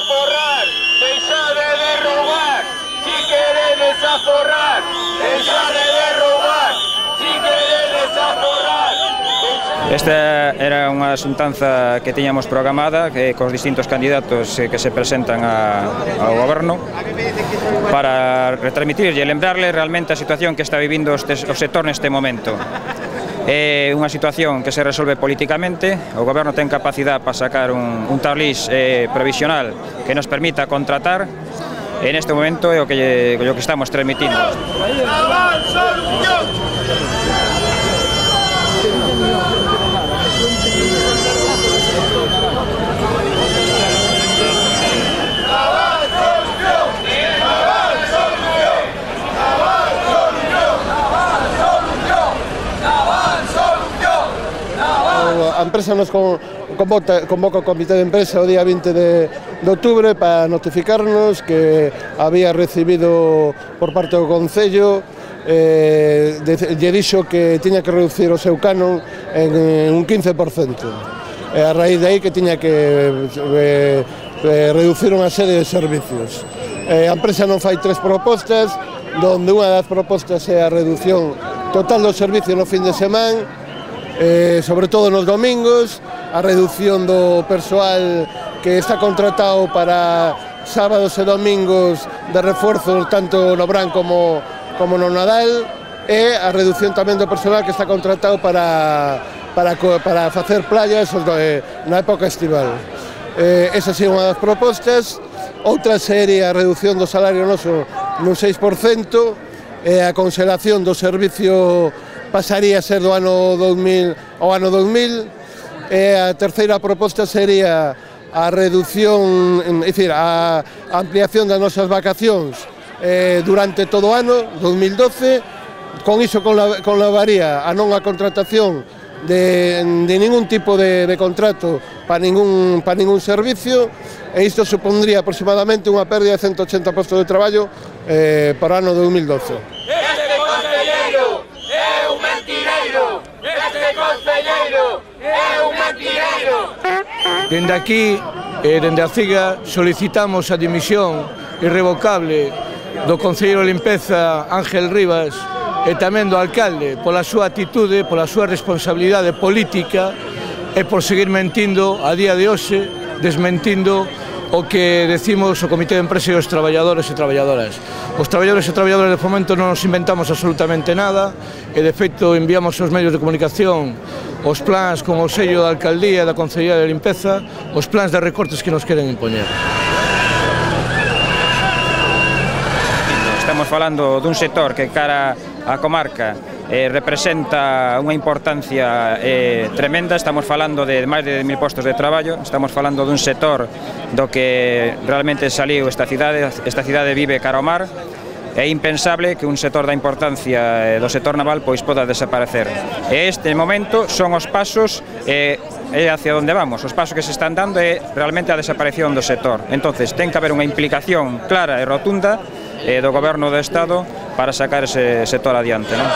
aforrar, deixade de roubar. Si queredes aforrar, deixade de roubar. Si queredes aforrar. Esta era unha xuntanza que tiñamos programada cos distintos candidatos que se presentan ao goberno para retransmitirlle e lembrarle realmente a situación que está vivindo o sector neste momento. É unha situación que se resolve politicamente, o goberno ten capacidade para sacar un tablís provisional que nos permita contratar, e neste momento é o que estamos transmitindo. A empresa nos convoca o comité de empresa o día 20 de outubro para notificarnos que había recibido por parte do Concello lle dixo que tiña que reducir o seu canon en un 15%. A raíz de aí que tiña que reducir unha serie de servicios. A empresa non fai tres propostas, donde unha das propostas é a reducción total do servicio no fin de semana, sobre todo nos domingos, a reducción do persoal que está contratado para sábados e domingos de refuerzo tanto no Brán como no Nadal, e a reducción tamén do persoal que está contratado para facer playas na época estival. Esa sería unha das propostas. Outra sería a reducción do salario noso nun 6%, e a conxelación do servicio pasaría a ser do ano 2000 ao ano 2000, e a terceira proposta sería a reducción, é dicir, a ampliación das nosas vacacións durante todo o ano 2012. Con iso conlevaría a non a contratación de ningún tipo de contrato para ningún servicio, e isto supondría aproximadamente unha pérdida de 180 postos de traballo para o ano 2012. Este concelleiro é un mentireiro. Este concelleiro é un mentireiro. Dende aquí, dende a CIGA, solicitamos a dimisión irrevocable do concelleiro de limpeza Ángel Rivas e tamén do alcalde pola súa actitude, pola súa responsabilidade política e por seguir mentindo a día de hoxe, desmentindo o que decimos o Comité de Empresa e os traballadores e traballadoras. Os traballadores e traballadoras de Fomento non nos inventamos absolutamente nada, e de feito enviamos aos medios de comunicación os plans con o sello da alcaldía e da Concellería de Limpeza, os plans de recortes que nos queren impoñer. Estamos falando dun sector que cara á comarca representa unha importancia tremenda. Estamos falando de máis de 10.000 postos de traballo, estamos falando dun sector do que realmente saliu esta cidade vive cara ao mar. É impensable que un sector da importancia do sector naval pois poda desaparecer. E este momento son os pasos é hacia onde vamos. Os pasos que se están dando é realmente a desaparición do sector. Entonces, ten que haber unha implicación clara e rotunda do Goberno do Estado para sacar ese sector adiante, non?